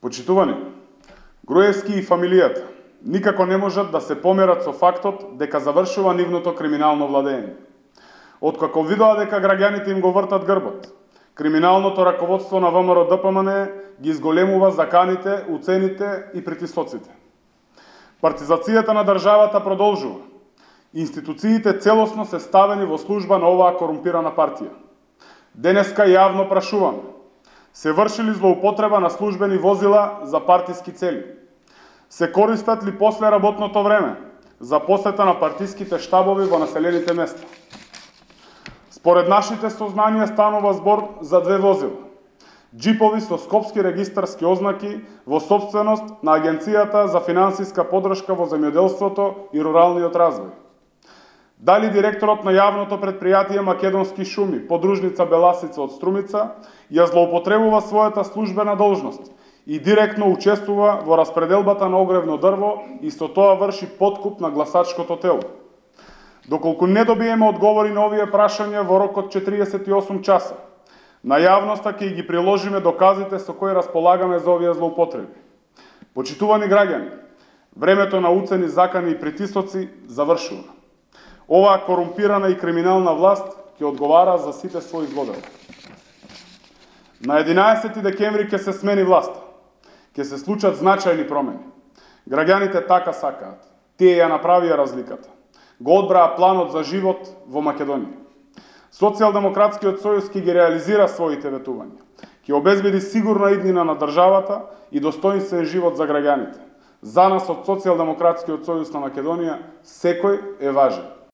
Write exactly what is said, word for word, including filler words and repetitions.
Почитувани, Груевски и фамилијата никако не можат да се померат со фактот дека завршува нивното криминално владење. Откако видоа дека граѓаните им го вртат грбот, криминалното раководство на ВМРО Д П М Н ги изголемува заканите, уцените и притисоците. Партизацијата на државата продолжува. Институциите целосно се ставени во служба на оваа корумпирана партија. Денеска јавно прашуваме: се врши ли злоупотреба на службени возила за партиски цели? Се користат ли после работното време за посета на партиските штабови во населените места? Според нашите сознанија станува збор за две возила. Джипови со скопски регистарски ознаки во собственост на Агенцијата за финансиска подршка во земјоделството и руралниот развој. Дали директорот на јавното предпријатие Македонски шуми, подружница Беласица од Струмица, ја злоупотребува својата службена должност и директно учествува во распределбата на огревно дрво и со тоа врши подкуп на гласачкото тело. Доколку не добиеме одговори на овие прашања во рок од четириесет и осум часа, на јавноста ќе ги приложиме доказите со кои располагаме за овие злоупотреби. Почитувани граѓани, времето на уцени, закани и притисоци завршува. Оваа корумпирана и криминална власт ќе одговара за сите своји злодеи. На единаесети декември ќе се смени власта. Ќе се случат значајни промени. Граѓаните така сакаат. Тие ја направија разликата. Го одбраа планот за живот во Македонија. Социјалдемократскиот сојуз ќе ги реализира своите ветувања. Ќе обезбеди сигурна иднина на државата и достоинствен живот за граѓаните. За нас од Социјалдемократскиот сојуз на Македонија секој е важен.